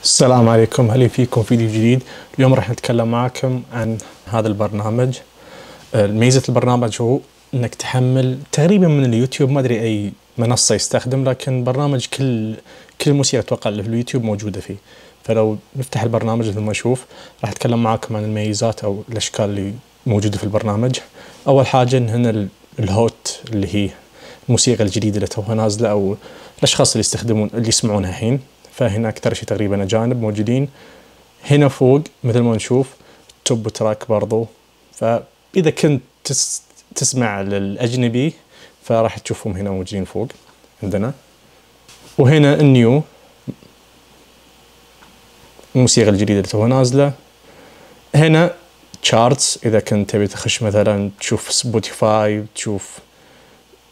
السلام عليكم، هلا فيكم فيديو جديد. اليوم راح نتكلم معكم عن هذا البرنامج. ميزة البرنامج هو انك تحمل تقريبا من اليوتيوب، ما ادري اي منصة يستخدم، لكن برنامج كل الموسيقى اتوقع اللي في اليوتيوب موجودة فيه. فلو نفتح البرنامج مثل ما نشوف راح اتكلم معكم عن الميزات او الاشكال اللي موجودة في البرنامج. اول حاجة ان هنا الهوت اللي هي الموسيقى الجديدة اللي توها نازلة او الاشخاص اللي يستخدمون اللي يسمعونها الحين. فهنا أكثر شيء تقريبا أجانب موجودين. هنا فوق مثل ما نشوف توب تراك برضو، فإذا كنت تسمع للأجنبي فراح تشوفهم هنا موجودين فوق عندنا. وهنا النيو، الموسيقى الجديدة اللي توها نازلة. هنا تشارتس، إذا كنت تبي تخش مثلا تشوف سبوتيفاي، تشوف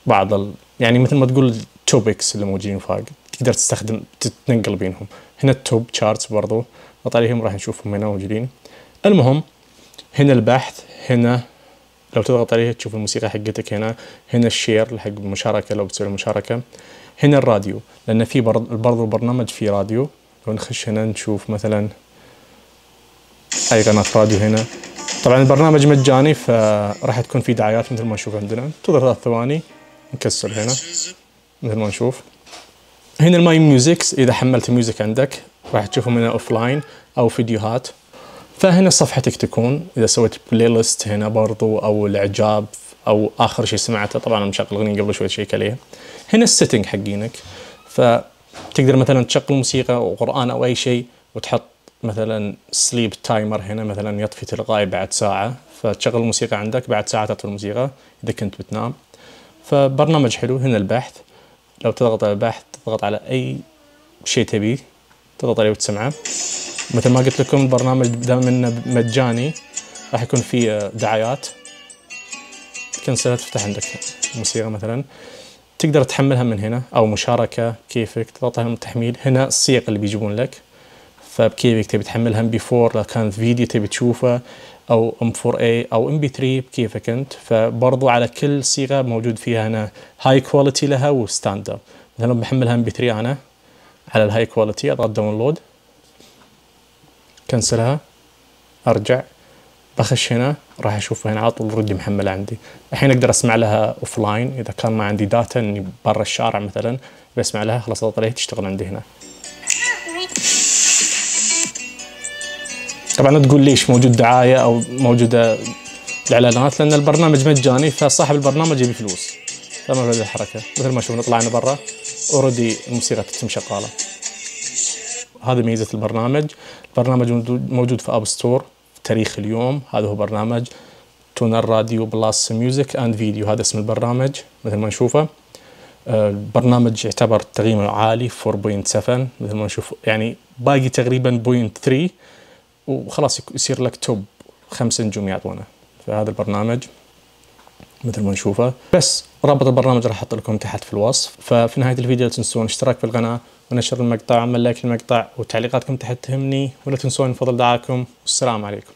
بعض يعني مثل ما تقول التوبكس اللي موجودين فوق، تقدر تستخدم تتنقل بينهم. هنا التوب تشارتس برضو نضغط عليهم راح نشوفهم هنا موجودين. المهم هنا البحث، هنا لو تضغط عليه تشوف الموسيقى حقتك. هنا الشير حق المشاركة لو بتسوي المشاركة. هنا الراديو، لأن في برضو البرنامج في راديو. لو نخش هنا نشوف مثلا أي قناة راديو. هنا طبعا البرنامج مجاني فراح تكون في دعايات مثل ما نشوف عندنا. انتظر 3 ثواني نكسر هنا مثل ما نشوف. هنا الماي ميوزكس، إذا حملت ميوزك عندك راح تشوفهم هنا أوفلاين أو فيديوهات. فهنا صفحتك تكون إذا سويت بلاي ليست هنا برضو، أو الإعجاب، أو آخر شيء سمعته. طبعا أنا مشغل أغنية قبل شوي تشيك عليه. هنا السيتنج حقينك، فتقدر مثلا تشغل موسيقى أو قرآن أو أي شيء وتحط مثلا سليب تايمر. هنا مثلا يطفي تلقائي بعد ساعة، فتشغل الموسيقى عندك بعد ساعة تطفي الموسيقى إذا كنت بتنام. فبرنامج حلو. هنا البحث، لو تضغط على البحث تضغط على أي شيء تبيه تضغط عليه وتسمعه. مثل ما قلت لكم البرنامج دام انه مجاني راح يكون فيه دعايات. تكنسلها تفتح عندك موسيقى مثلا تقدر تحملها من هنا، او مشاركة كيفك تضغط على التحميل. هنا الصيغ اللي بيجيبون لك، فبكيفك تبي تحملها MP4 لو كان فيديو تبي تشوفه، او M4A او MP3 بكيفك انت. فبرضو على كل صيغة موجود فيها هنا هاي كواليتي لها وستاندرد. مثلا بحملها MP3 انا على الهاي كواليتي، اضغط داونلود، كنسلها، ارجع بخش هنا راح اشوف هنا على طول اوريدي محمله عندي. الحين اقدر اسمع لها اوفلاين اذا كان ما عندي داتا اني برا الشارع مثلا بسمع لها، خلاص اضغط عليها تشتغل عندي هنا. طبعا لا تقول ليش موجود دعايه او موجوده الاعلانات، لان البرنامج مجاني فصاحب البرنامج يبي فلوس، فما في الحركه. مثل ما شوفنا طلعنا برا اوريدي الموسيقى تتم شغاله. هذه ميزة البرنامج. البرنامج موجود في اب ستور في تاريخ اليوم. هذا هو برنامج تونر راديو بلس ميوزك اند فيديو، هذا اسم البرنامج مثل ما نشوفه. البرنامج يعتبر تقييمه عالي 4.7 مثل ما نشوف، يعني باقي تقريبا 0.3 وخلاص يصير لك توب 5 نجوم يعطونه. فهذا البرنامج مثل ما نشوفه. بس رابط البرنامج راح احط لكم تحت في الوصف. ففي نهاية الفيديو لا تنسون الاشتراك في القناة ونشر المقطع وعمل لايك للمقطع، وتعليقاتكم تحت تهمني، ولا تنسون فضل دعاكم. والسلام عليكم.